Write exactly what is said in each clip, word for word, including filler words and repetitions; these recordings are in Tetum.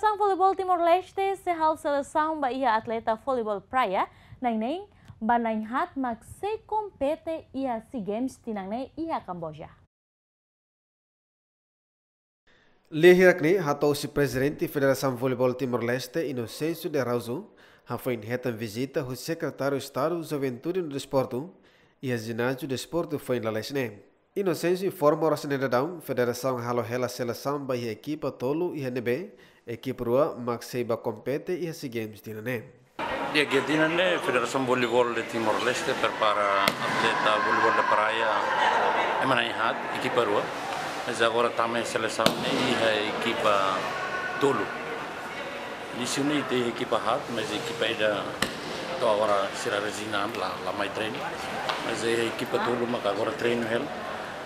Selesaun Voleibol Timor-Leste sei halo selesaun ba iha atleta voleibol praia na'in-neen ba na'in-haat mak sei kompete iha SEA Games tinan ne'e iha Kamboja. Lia hirak ne'e hato'o husi Prezidente Federasaun Voleibol Timor-Leste, Inocêncio de Araújo, hafoin hetan vizita husi Sekretáriu Estadu Juventude no Desportu, iha Jináziu Desportu foin lalais ne'e. Inocêncio informa oras ne'e daudaun, federasaun halo hela selesaun ba iha ekipa tolu iha ne'ebé ekipa rua mak sei ba kompete iha SEA Games tinan ne'e. Di'ak, iha tinan ne'e Federasaun Voleibol de Timor-Leste prepara atleta voleibol de praia ema na'in-haat, ekipa rua. Mas agora tama iha selesaun ne'e iha ekipa tolu. Inísiu ne'e ita iha ekipa haat, mas ekipa ida to'o agora sira rezina la, la mai treinu. Mas iha ekipa tolu maka agora treinu hela.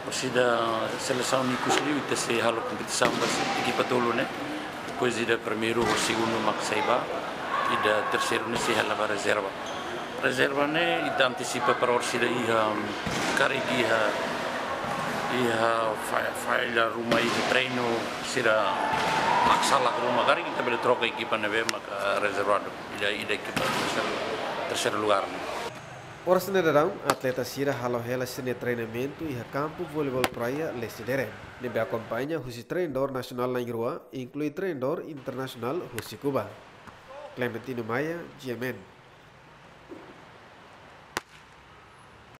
Orsida selesaun ikus liu ita sei halo kompetisaun ba ekipa tolu ne'e. Depois ida primeiru ho segundu mak sei ba, ida terseiru ne'e sei hela ba rezerva. Rezerva ne'e ita antisipa para orsida iha, karik iha, iha fa-, falla ruma iha treinu, sira mak sala ruma, karik ita bele troka ekipa ne'ebé maka rezervadu. Ida, ida ekipa terseiru, terseiru lugar ne'e. Oras ne'e daudaun, atleta sira halo hela sira-nia treinamentu iha kampu voleibol praia Lecidere, ne'ebé akompaña husi treinadór nasionál na'in-rua, inklui treinadór internasionál husi Kuba. Clementino Maia, G M N.